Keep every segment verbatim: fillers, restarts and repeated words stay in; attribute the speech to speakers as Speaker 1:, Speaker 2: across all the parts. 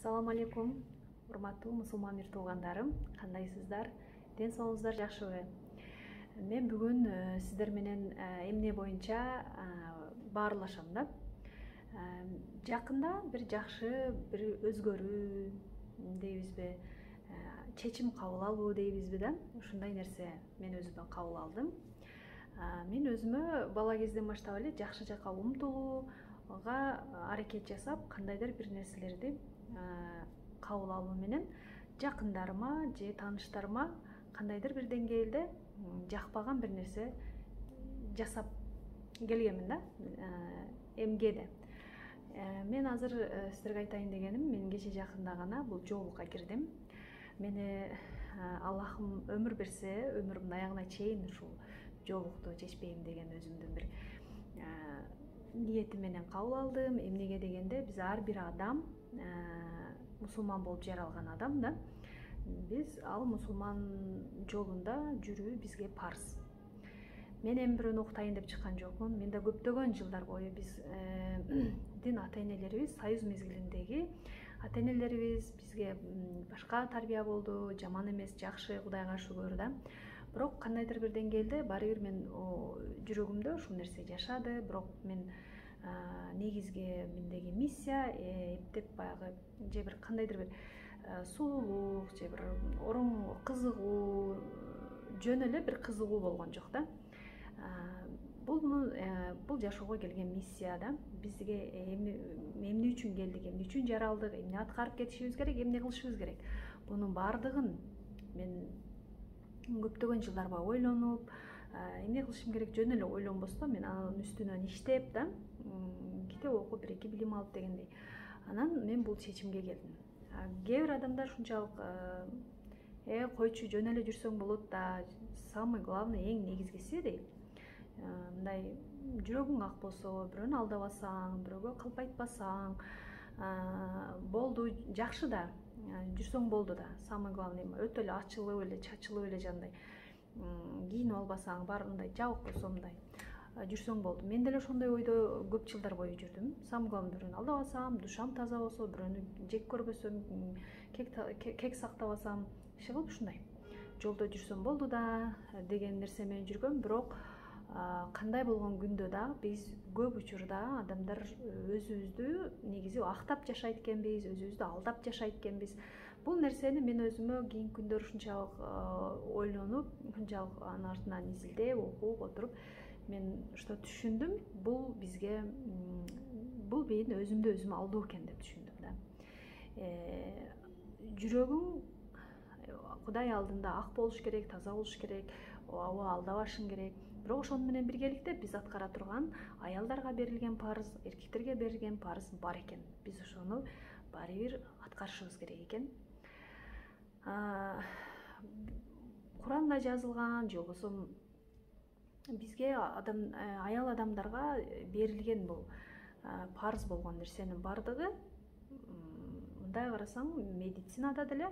Speaker 1: Assalamu alaikum, урматтуу мусулман мир туугандарым, кандайсыздар? Ден соолугуңуздар жакшыбы? Мен бүгүн сиздер менен эмне боюнча баарлашам да. Жакында бир жакшы бир өзгөрүү дейбизби, чечим кабыл алуу дейбизби да, ушундай нерсе мен өзүмө кабыл алдым. Мен өзүмө бала кезден баштап эле жакшы жакка умтулууга аракет жасап, кандайдыр бир нерселерди кабыл алуу менен жакындарыма же тааныштарыма кандайдыр бир деңгээлде жакпаган бир нерсе жасап келгенмин да, эмгеде. Мен азыр сиздерге айтайын дегеним, мен кече жакында гана бул жоолукка кирдим. Мени Аллахым өмүр берсе, өмүрүмдүн аягына чейин ушул жоолукту чечпейм деген өзүмдүн бир ниетим менен кабыл алдым. Эмнеге дегенде, биз ар бир адам мусулман болуп жаралган адам да. Биз ал мусулман жолунда жүрүү бизге парз. Мен эми бирөөнү уктайын деп чыккан жокмун. Мен да көптөгөн жылдар бою биздин ата-энелерибиз, союз мезгилиндеги ата-энелерибиз бизге башка тарбия болду, жаман эмес, жакшы, Кудайга шүгүр да. Бирок кандайдыр бир деңгээлде баары бир мен жүрөгүмдө ушул нерсе жашады. Бирок мен негизги мендеги миссия эптеп баягы же бир кандайдыр бир сулуулук же бир ороң кызыгуу, жөн эле бир кызыгуу болгон жок да. Бул бул жашоого келген миссия да. Бизге эмне үчүн келдик, эмне үчүн жаралдык, эмне аткарып кетишибиз керек, эмне кылышыбыз керек. Бунун баардыгын мен көптөгөн жылдар бою ойлонуп, эмне кылышым керек жөн эле ойлонбостон мен анын үстүнөн иштеп да, китеп окуп, бир эки билим алып дегендей. Анан мен бул чечимге келдим. Кээ бир адамдар ушунчалык э койчу жөн эле жүрсөң болот да, самый главный, эң негизгиси дейт. Мындай жүрөгүң ак болсо, бирөөнү алдабасаң, бирөөгө калп айтпасаң, болду, жакшы да, жүрсөң болду да. Самый главный өтө эле ачылып эле, чачылып эле жандай кийинип албасаң, баары мындай жабык болсо мындай жүрсөң болду. Мен деле ошондой ойдо көп жылдар бою жүрдүм. Самый главный бирөөнү алдабасам, душам таза болсо, бирөөнү жек көрбөсөм, кек сактабасам, иши кылып ушундай жолдо жүрсөм болду да деген нерсе менен жүргөм. Бирок кандай болгон күндө да биз көп учурда адамдар өзүбүздү негизи актап жашайт экенбиз, өзүбүздү алдап жашайт экенбиз. Бул нерсени мен өзүмө кийинки күндөр ушунчалык ойлонуп, ушунчалык анын артынан изилдеп, окуп отуруп, мен что түшүндүм, бул бизге бул мен өзүмдү өзүм алдоо экен деп түшүндүм да. Жүрөгүң Кудай алдында ак болуш керек, таза болуш керек, ооба алдабашың керек. Бирок ошону менен биргеликте биз аткара турган аялдарга берилген парыз, эркектерге берилген парыз бар экен. Биз ошону баары бир аткарышыбыз керек экен. Куранда жазылган же болбосо бизге адам аял адамдарга берилген бул парыз болгон нерсенин бардыгы, мындай карасаң, медицинада деле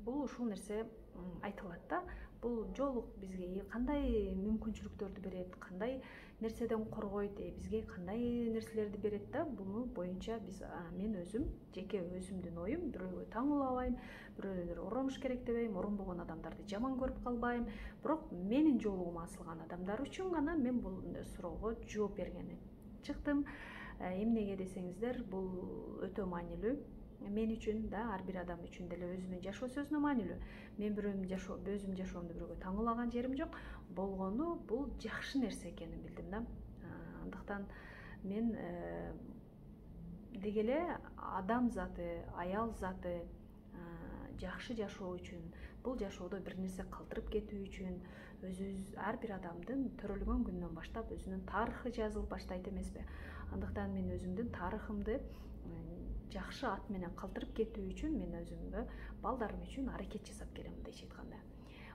Speaker 1: бул ушул нерсе айтылат да. Бул жоолук бизге кандай мүмкүнчүлүктөрдү берет, кандай нерседен коргойт, бизге кандай нерселерди берет да. Буну боюнча биз мен өзүм, жеке өзүмдүн оюм, бирөөгө таңуулабайм, бирөөлөр оронуш керек дебейм, оронбогон адамдарды жаман көрүп калбайм. Бирок менин жоолугума асылган адамдар үчүн гана мен бул суроого жооп бергени чыктым. Эмнеге десеңиздер, бул өтө маанилүү. Мен үчүн да, ар бир адам үчүн деле өзүнүн жашоо сөзүнө маанилүү. Мен бирөөнүн жашоо, өзүмдүн жашоомду бирөөгө таңуулаган жерим жок. Болгону бул жакшы нерсе экенин билдим да. Андыктан мен деги эле адам заты, аял заты жакшы жашоо үчүн, бул жашоодо бир нерсе калтырып кетүү үчүн өзүбүз ар бир адамдын төрөлгөн күнүнөн баштап өзүнүн тарыхы жазылып баштайт эмеспи? Андыктан мен өзүмдүн тарыхымды жакшы ат менен калтырып кетүү үчүн мен өзүмгө, балдарым үчүн аракет жасап келем, мындайча айтканда.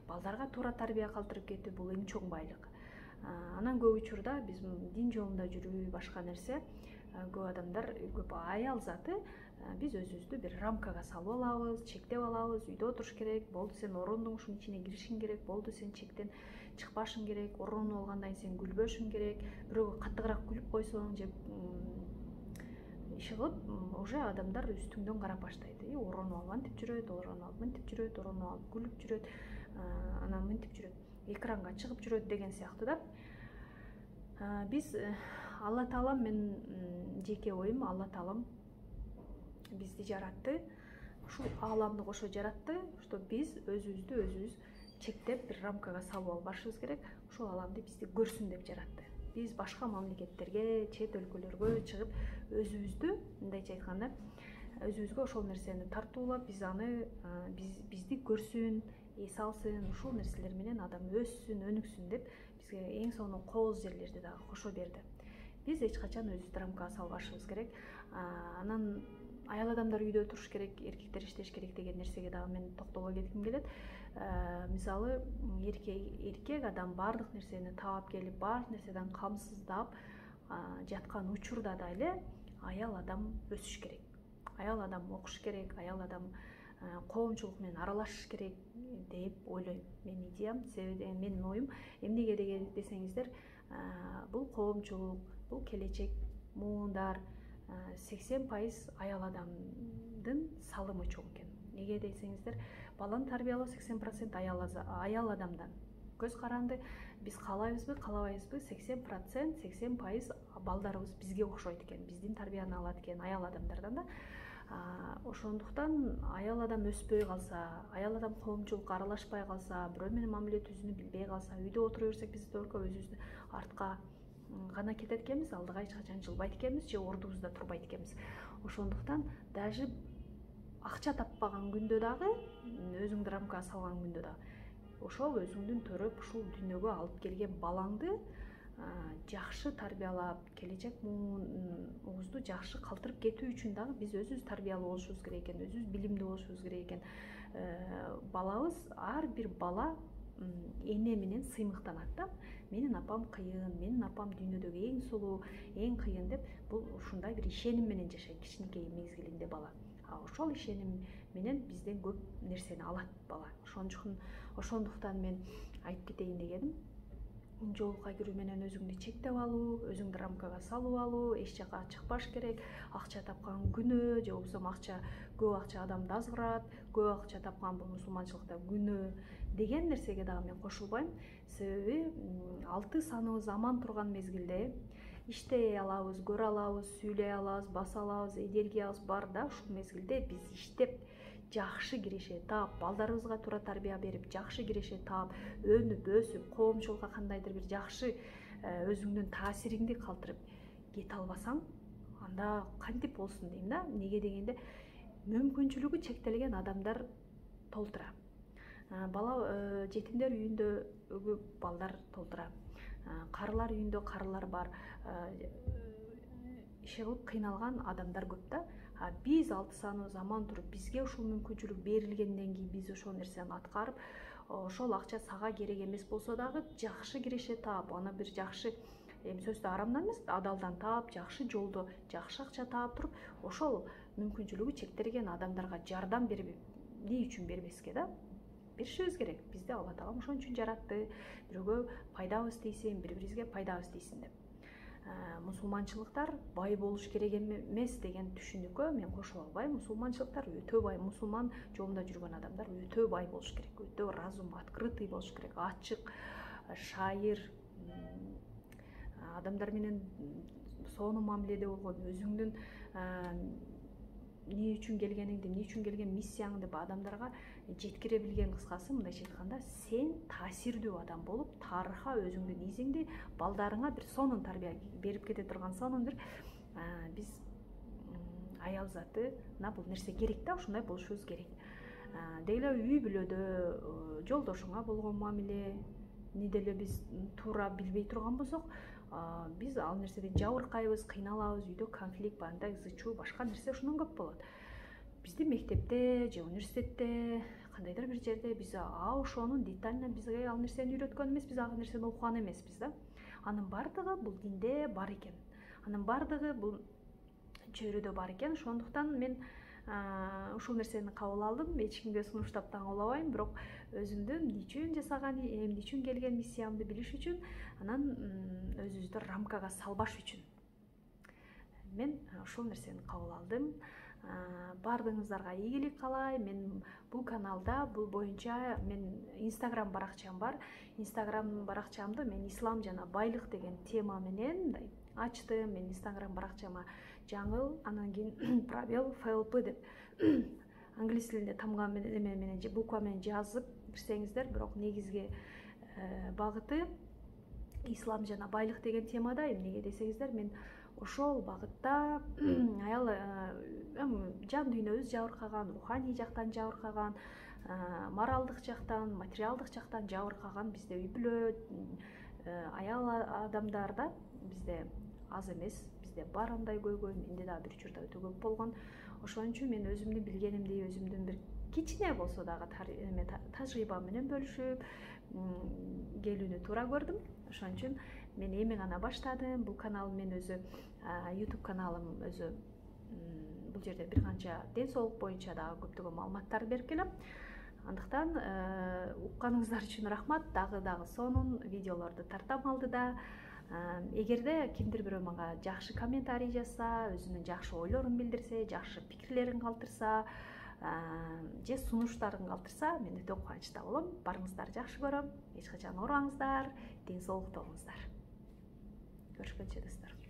Speaker 1: Балдарга туура тарбия калтырып кетүү бул эң чоң байлык. Анан көп учурда биз дин жолунда жүрүү, башка нерсе, көп адамдар, көп аял заты биз өзүбүздү бир рамкага салып алабыз, чектеп алабыз. Үйдө отуруш керек, болду сен орондуң ушунун ичине киришиң керек, болду сен чектен чыкпашың керек, ороону алгандан кийин сен күлбөшүң керек, бирөөгө каттыгыраак күлүп койсоң же иши кылып уже адамдар үстүңдөн карап баштайт. Оронуп алып антип жүрөт, оронуп алып мынтип жүрөт, оронуп алып күлүп жүрөт, анан мынтип жүрөт, экранга чыгып жүрөт деген сыяктуу да. Биз Алла Таалам, мен жеке оюм, Алла Таалам бизди жаратты, ушул ааламды кошо жаратты, что биз өзүбүздү өзүбүз чектеп бир рамкага салып албашыбыз керек. Ушул ааламды бизди көрсүн деп жаратты. Биз башка мамлекеттерге, чет өлкөлөргө чыгып өзүбүздү, мындайча айтканда, өзүбүзгө ошол нерсени тартуулап, биз аны биз бизди көрсүн, эс алсын, ушул нерселер менен адам өссүн, өнүксүн деп бизге эң сонун кооз жерлерди дагы кошо берди. Биз эч качан өзүбүздү рамкага салбашыбыз керек. Анан аял адамдар үйдө туруш керек, эркектер иштеш керек деген нерсеге дагы мен токтоло кетким келет. Мисалы, эркек адам баардык нерсени таап келип, баардык нерседен камсыздап жаткан учурда да эле аял адам өсүш керек. Аял адам окуш керек, аял адам коомчулук менен аралашыш керек деп ойлойм. Менин идеям, себеби менин оюм эмнеге деген десеңиздер, бул коомчулук, бул келечек муундар сексен пайыз аял адамдын салымы чоң экен. Неге десеңиздер, баланы тарбиялоо сексен процент аял адамдан. Көз каранды, биз каалайбызбы, каалабайбызбы, сексен процент, сексен пайыз балдарыбыз бизге окшойт экен, биздин тарбияны алат экен аял адамдардан да. Ошондуктан аял адам өспөй калса, аял адам коомчулукка аралашпай калса, бирөө менен мамиле түзүүнү билбей калса, үйдө отура берсек, биз только өзүбүздү артка гана кетет экенбиз, алдыга эч качан жылбайт экенбиз же ордубузда турбайт экенбиз. Ошондуктан даже акча таппаган күндө дагы, өзүңдү рамкага салган күндө дагы, ошол өзүңдүн төрөп ушул дүйнөгө алып келген балаңды жакшы тарбиялап, келечек муунубузду жакшы калтырып кетүү үчүн дагы биз өзүбүз тарбиялуу болушубуз керек экен, өзүбүз билимдүү болушубуз керек экен. Балабыз, ар бир бала эне менен сыймыктанат да. Менин апам кыйын, менин апам дүйнөдөгү эң сулуу, эң кыйын деп, бул ушундай бир ишеним менен жашайт кичинекей мезгилинде бала. Ошол ишеним менен бизден көп нерсени алат бала. Ошондуктан мен айтып кетейин дегеним, жолука кирүү менен өзүңдү чектеп алуу, өзүңдү рамкага салып алуу, эч жака чыкпаш керек. Акча тапкан күнөө, же болбосо акча, көп акча адамды азгырат, көп акча тапкан бул мусулманчылыкта күнөө деген нерсеге дагы мен кошулбайм. Себеби алты саныбыз аман турган мезгилде иштей алабыз, көрө алабыз, сүйлөй алабыз, баса алабыз, энергиябыз бар да, ушул мезгилде биз иштеп жакшы киреше таап, балдарыбызга туура тарбия берип, жакшы киреше таап, өнүп, өсүп, коомчулукка кандайдыр бир жакшы өзүңдүн таасириңди калтырып кете албасаң, анда кантип болсун дейм да. Неге дегенде, мүмкүнчүлүгү чектелген адамдар толтура. Бала жетимдер үйүндөгү балдар толтура. Карылар үйүндө карылар бар. Иши кылып кыйналган адамдар көп да. Биз алты саныбыз аман туруп, бизге ушул мүмкүнчүлүк берилгенден кийин биз ошол нерсени аткарып, ошол акча сага керек эмес болсо дагы жакшы киреше таап, аны бир жакшы, эми сөздө арамдан эмес, адалдан таап, жакшы жолдо жакшы акча таап туруп, ошол мүмкүнчүлүгү чектелген адамдарга жардам берип, эмне үчүн бербеске да? Беришибиз керек. Бизди Алла Таалам ошон үчүн жаратты. Бирөөгө пайдабыз тийсин, бири-бирибизге пайдабыз тийсин деп. Мусулманчылыктар бай болуш керек эмес деген түшүнүккө мен кошула албайм. Мусулманчылыктар өтө бай, мусулман жолунда жүргөн адамдар өтө бай болуш керек, өтө разум, открытый болуш керек, ачык, шайыр, адамдар менен сонун мамиледе болгон, өзүңдүн эмне үчүн келгениңди, эмне үчүн келген миссияңды адамдарга жеткире билген, кыскасы мындайча айтканда, сен таасирдүү адам болуп, тарыхка өзүңдүн изиңди, балдарыңа бир сонун тарбия берип кете турган сонун бир биз аял затына бул нерсе керек да, ушундай болушубуз керек. Деги эле үй бүлөдө жолдошуңа болгон мамилени деле биз туура билбей турган болсок, биз ал нерседен жабыркайбыз, кыйналабыз, үйдө конфликт, бандай ызы чуу, башка нерсе ушундан көп болот. Бизди мектепте же университетте, кандайдыр бир жерде биз а ошону детально бизге ал нерсени үйрөткөн эмеспиз, ал нерсени окуган эмеспиз да. Анын бардыгы бул динде бар экен. Анын бардыгы бул чөйрөдө бар экен. Ошондуктан мен ушул нерсени кабыл алдым. Эч кимге сунуштап таңуулабайм, бирок өзүмдү эмне үчүн жасаган, эмне үчүн келген миссиямды билиш үчүн, анан өзүбүздү рамкага салбаш үчүн мен ошол нерсени кабыл алдым. Баардыгыңыздарга ийгилик каалайм. Мен бул каналда бул боюнча мен Instagram баракчам бар. Instagram баракчамды мен ислам жана байлык деген тема менен мындай ачтым. Мен Instagram баракчама жаңыл, анан кийин пробел флп деп англис тилинде тамга менен менен буква менен жазып кирсеңиздер, бирок негизги багыты ислам жана байлык деген темада. Эмнеге десеңиздер, мен ошол багытта аял жан дүйнөбүз жабыркаган, руханий жактан жабыркаган, моралдык жактан, материалдык жактан жабыркаган бизде үй бүлө аял адамдар да бизде аз эмес, бизде бар андай көйгөй. Менде дагы бир учурда өтө көп болгон. Ошон үчүн мен өзүмдүн билгенимди, өзүмдүн бир кичине болсо дагы тажрыйба менен бөлүшүп келүүнү туура көрдүм. Ошон үчүн мен эми гана баштадым. Бул канал мен өзү YouTube каналым өзү бул жерде бир канча ден соолук боюнча дагы көптөгөн маалыматтарды берип келем. Андыктан укканыңыздар үчүн рахмат. Дагы дагы сонун видеолорду тартам алдыда. Эгерде кимдир бирөө мага жакшы комментарий жазса, өзүнүн жакшы ойлорун билдирсе, жакшы пикирлерин калтырса, же сунуштарын калтырса, мен өтө кубанычта болом. Барыңыздарды жакшы көрөм. Эч качан оорубаңыздар, ден соолукта болуңуздар. Көрүшкөнчө достор.